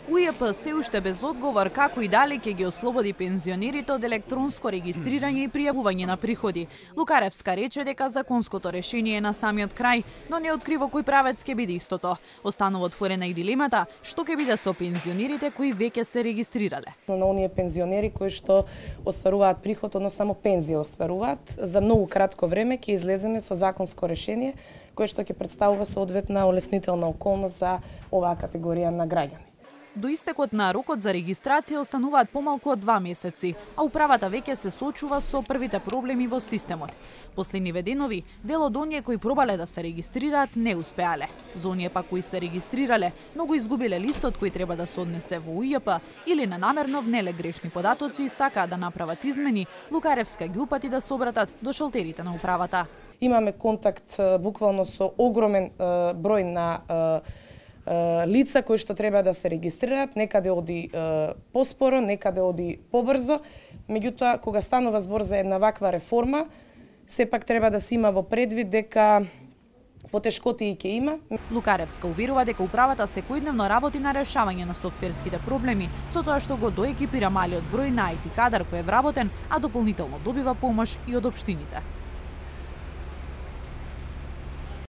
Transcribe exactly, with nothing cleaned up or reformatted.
У Ј П се уште без одговор како и дали ќе ги ослободи пензионерите од електронско регистрирање и пријавување на приходи. Лукаревска рече дека законското решение е на самиот крај, но не открива кој правец ќе биде истото. Останува отворена и дилемата што ќе биде со пензионерите кои веќе се регистрирале. На оние пензионери кои што остваруваат приход, односно само пензија остваруваат, за многу кратко време ќе излеземе со законско решение кое што ќе представува соодветна олеснителна околност за оваа категорија на граѓани. До истекот на рокот за регистрација остануваат помалку од два месеци, а управата веќе се соочува со првите проблеми во системот. После ниведенови, дел од оние кои пробале да се регистрираат не успеале. За оние пак кои се регистрирале, многу изгубиле листот кој треба да се однесе во У Ј П или ненамерно внеле грешни податоци и сакаат да направат измени, Лукаревска ги упати да се обратат до шалтерите на управата. Имаме контакт буквално со огромен број на лица кои што треба да се регистрираат, некаде оди поспоро, некаде оди побрзо. Меѓутоа, кога станува збор за една ваква реформа, сепак треба да се има во предвид дека потешкоти и ќе има. Лукаревска уверува дека управата секојдневно работи на решавање на софтверските проблеми, со тоа што го доекипира малиот број на ај ти кадар кој е вработен, а дополнително добива помош и од општините.